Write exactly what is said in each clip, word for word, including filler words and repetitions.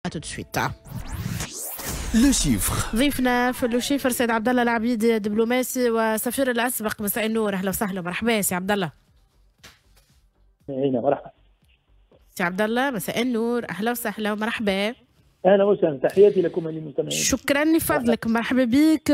tout de suite. le chiffre. ضيفنا في le chiffre سيد عبد الله العبيدي، دبلوماسي وسفير الاسبق. مساء النور، اهلا وسهلا، مرحبا سي عبد الله. مرحبا. سي عبد الله، مساء النور، اهلا وسهلا ومرحبا. اهلا وسهلا، تحياتي لكم للمستمعين. شكرا لفضلك، مرحبا بك.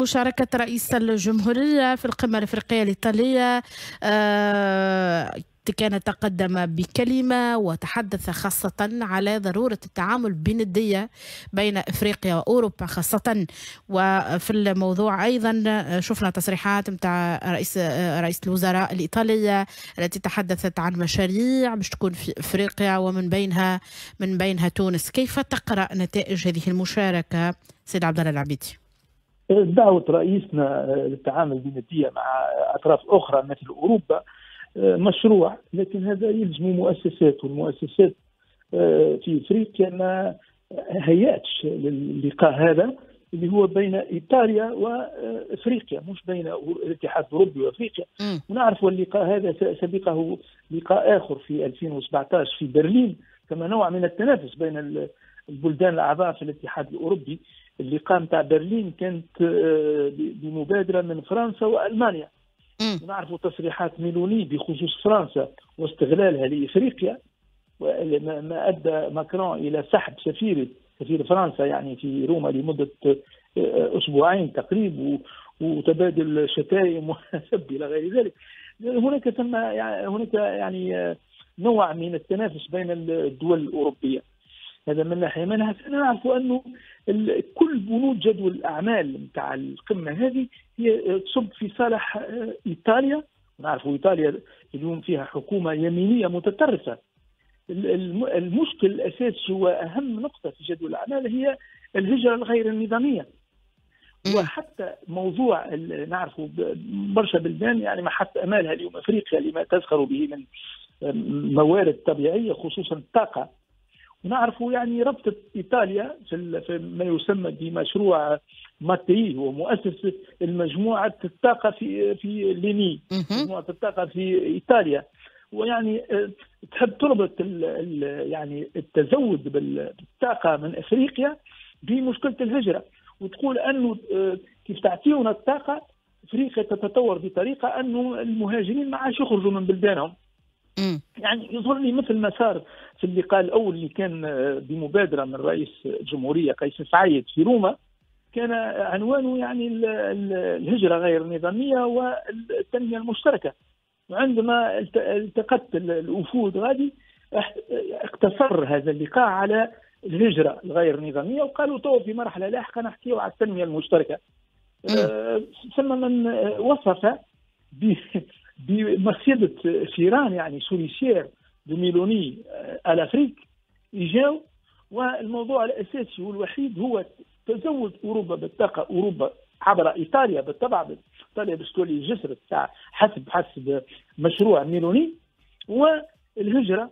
مشاركة رئيس الجمهورية في القمه الافريقية الايطالية، آه كان تقدم بكلمة وتحدث خاصة على ضرورة التعامل بندية بين إفريقيا وأوروبا خاصة. وفي الموضوع أيضا شفنا تصريحات متاع رئيس رئيس الوزراء الإيطالية التي تحدثت عن مشاريع باش تكون في إفريقيا ومن بينها من بينها تونس. كيف تقرأ نتائج هذه المشاركة سيد عبد الله العبيدي؟ دعوة رئيسنا للتعامل بندية مع أطراف أخرى مثل أوروبا مشروع، لكن هذا يلزم مؤسسات، والمؤسسات آه، في افريقيا ما هيأتش للقاء هذا اللي هو بين ايطاليا وافريقيا، مش بين الاتحاد الاوروبي وافريقيا. ونعرف اللقاء هذا سبقه لقاء اخر في ألفين وسبعة عشر في برلين، كما نوع من التنافس بين البلدان الاعضاء في الاتحاد الاوروبي. اللقاء نتاع برلين كانت آه، بمبادرة من فرنسا والمانيا. نعرف تصريحات ميلوني بخصوص فرنسا واستغلالها لافريقيا، ما ادى ماكرون الى سحب سفير سفير فرنسا يعني في روما لمدة آه، اسبوعين تقريبا، وتبادل شتائم وسب الى غير ذلك. هناك ثم يعني هناك يعني آه، نوع من التنافس بين الدول الاوروبيه. هذا من ناحيه. من ناحية نعرف انه كل بنود جدول الاعمال نتاع القمه هذه هي تصب في صالح آه، ايطاليا. نعرف ايطاليا اليوم فيها حكومة يمينية متطرفه. المشكل الاساسي واهم نقطة في جدول الاعمال هي الهجرة الغير النظاميه، وحتى موضوع نعرفوا برشا بلدان يعني محط امالها اليوم افريقيا لما تزخر به من موارد طبيعيه، خصوصا الطاقه. ونعرفوا يعني ربطة ايطاليا في ما يسمى بمشروع ماتي، هو مؤسس المجموعة الطاقة في في l'ENI، مجموعة الطاقة في ايطاليا، ويعني آه، تحب تربط ال ال يعني التزود بالطاقة من افريقيا بمشكلة الهجره، وتقول انه آه، كيف تعطيونا الطاقه، افريقيا تتطور بطريقة انه المهاجرين ما عادش يخرجوا من بلدانهم. يعني يظهر لي مثل ما صار في اللقاء الاول اللي كان آه، بمبادرة من رئيس الجمهورية قيس سعيد في روما، كان عنوانه يعني الهجرة غير النظامية والتنمية المشتركه. وعندما التقت الوفود غادي، اقتصر هذا اللقاء على الهجرة الغير النظاميه، وقالوا تو في مرحلة لاحقة نحكيو على التنمية المشتركه. أه ثم من وصف بمصيدة فيران، يعني souricière de Meloni à l'Afrique. يجاو والموضوع الاساسي والوحيد هو تزود اوروبا بالطاقه، اوروبا عبر ايطاليا بالطبع، ايطاليا باش تولي جسر تاع حسب حسب مشروع ميلوني، والهجرة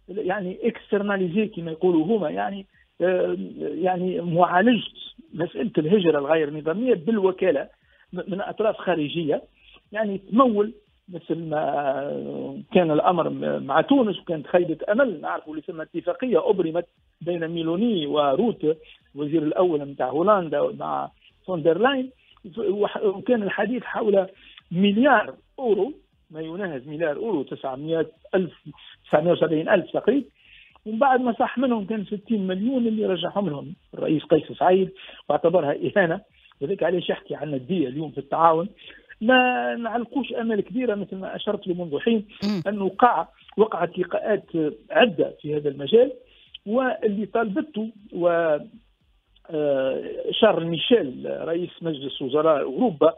يعني externaliser كما يقولوا هما، يعني آه، يعني معالجة مسالة الهجرة الغير نظامية بالوكالة من اطراف خارجيه، يعني تمول مثل ما كان الامر مع تونس وكانت خيبه امل. نعرفوا اللي ثم اتفاقية ابرمت بين ميلوني وروت الوزير الاول نتاع هولندا مع فون دير لاين، وكان الحديث حول مليار اورو، ما يناهز مليار اورو، تسعمية الف، تسعمية وسبعين الف تقريبا، ومن بعد ما صح منهم كان ستين مليون اللي رجعهم لهم الرئيس قيس سعيد واعتبرها اهانه. وذلك علاش يحكي عن الندية اليوم في التعاون. ما نعلقوش امال كبيره، مثل ما اشرت له منذ حين انه وقع وقعت لقاءات عده في هذا المجال، واللي طالبته و آه، شارل ميشيل رئيس مجلس وزراء اوروبا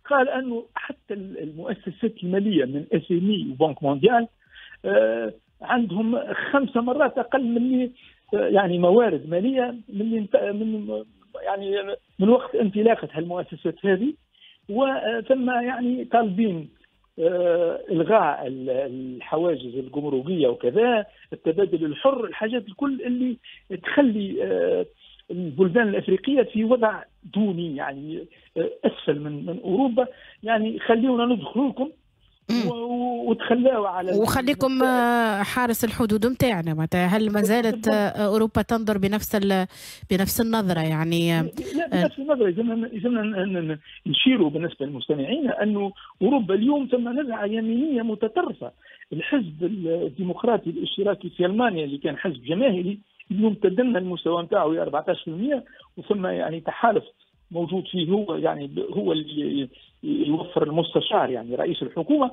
قال انه حتى المؤسسات المالية من FMI و Banque mondiale آه، عندهم خمسة مرات اقل من آه، يعني موارد ماليه من من يعني من وقت انطلاقة هالمؤسسات هذه. وثم يعني طالبين آه، الغاء الحواجز الجمركيه وكذا، التبادل الحر، الحاجات الكل اللي تخلي آه، البلدان الافريقية في وضع دوني، يعني آه، اسفل من من اوروبا، يعني خليونا ندخل لكم. وتخلاوا على وخليكم حارس الحدود نتاعنا. معناتها هل ما زالت اوروبا تنظر بنفس بنفس النظرة؟ يعني لا بنفس النظرة. لازمنا نشيروا بالنسبة للمستمعين انه اوروبا اليوم ثم نزعه يمينية متطرفة. الحزب الديمقراطي الاشتراكي في المانيا اللي كان حزب جماهيري اليوم تدنى المستوى نتاعو الى أربعة عشر بالمئة، وثم يعني تحالف موجود فيه هو يعني هو اللي يوفر المستشار يعني رئيس الحكومة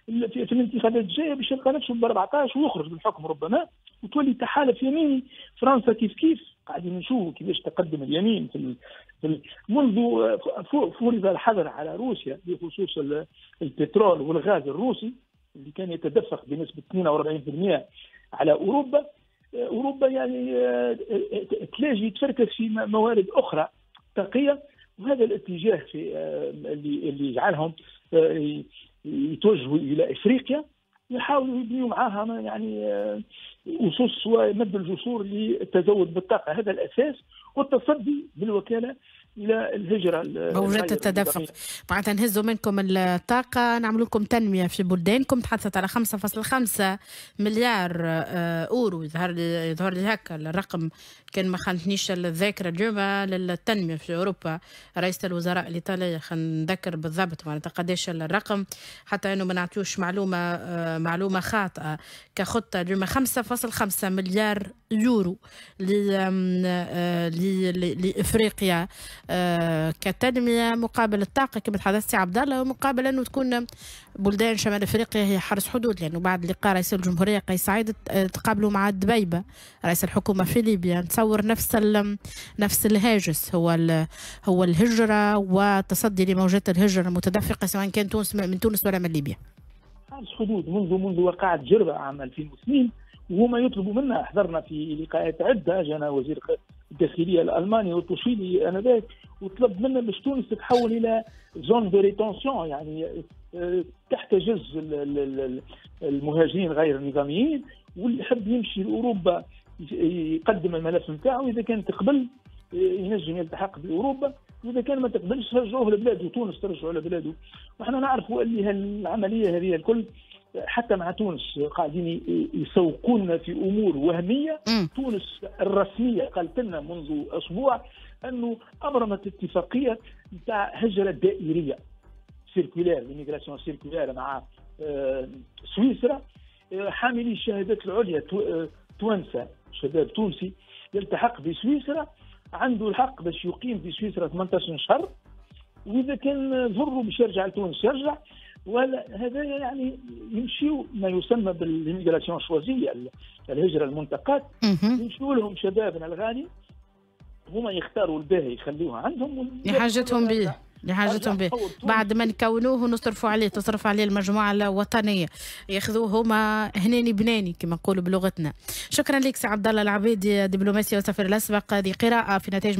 في الانتخابات الجاية باش يلقى نفسه ب أربعة عشر ويخرج من الحكم ربما، وتولي تحالف يميني. فرنسا كيف كيف قاعدين نشوفوا كيفاش تقدم اليمين في ال... في ال... منذ فرض الحظر على روسيا بخصوص البترول والغاز الروسي اللي كان يتدفق بنسبة اثنين وأربعين بالمئة على اوروبا. اوروبا يعني تلاجي تفركس في موارد اخرى طاقية، وهذا الاتجاه في اللي اللي يجعلهم يتوجهوا الى افريقيا، يحاولوا يبنيوا معاها يعني اسس ومد الجسور للتزود بالطاقة. هذا الاساس، والتصدي بالوكالة الى الهجرة موجات التدفق. معناتها نهزوا منكم الطاقة، نعمل لكم تنمية في بلدانكم. تحدثت على خمسة فاصلة خمسة مليار اورو، يظهر لي يظهر لي هكا الرقم كان ما خانتنيش الذاكرة اليوم، للتنمية في اوروبا. رئيس الوزراء الايطالي خلينا نذكر بالضبط معناتها قداش الرقم، حتى انه ما نعطيوش معلومة معلومة خاطئه. كخطه اليوم خمسة فاصلة خمسة مليار يورو لافريقيا كتنميه مقابل الطاقة كما تحدثت عبد الله، ومقابل انه تكون بلدان شمال افريقيا هي حرس حدود. لانه بعد لقاء رئيس الجمهورية قيس سعيد تقابلوا مع دبيبه رئيس الحكومة في ليبيا، نتصور نفس نفس الهاجس هو هو الهجرة والتصدي لموجات الهجرة المتدفقه سواء كان تونس من تونس ولا من ليبيا. حارس حدود منذ منذ وقعت جربه عام ألفين واثنين وهما يطلبوا منا. حضرنا في لقاءات عده، جانا وزير الداخلية الالماني والتوشيلي انذاك وطلب منا باش تونس تتحول الى zone de rétention، يعني تحتجز المهاجرين غير النظاميين، واللي يحب يمشي لاوروبا يقدم الملف نتاعو، اذا كان تقبل ينجم يلتحق باوروبا، واذا كان ما تقبلش رجعوه لبلاده، تونس ترجعه لبلاده. وحنا نعرفوا اللي هالعمليه هذه الكل حتى مع تونس قاعدين يسوقون في امور وهمية. م. تونس الرسمية قالت لنا منذ اسبوع انه ابرمت اتفاقية نتاع هجره دائريه circulaire، l'immigration circulaire مع سويسرا. حاملي الشهادات العليا توانسة، شباب تونسي يلتحق بسويسرا عنده الحق باش يقيم في سويسرا ثمانية عشر شهر، واذا كان ضره باش يرجع لتونس يرجع. وهذا يعني يمشيوا ما يسمى بال immigration choisie، الهجرة المنتقات، يمشيوا لهم شبابنا الغالي، هما يختاروا الباهي يخليوه عندهم لحاجتهم به لحاجتهم به بعد ما نكونوه ونصرفوا عليه، تصرف عليه المجموعة الوطنية، ياخذوه هما هناني بناني كما نقولوا بلغتنا. شكرا لك سي عبد الله العبيدي، دبلوماسي وسفير الاسبق. هذه قراءة في نتائج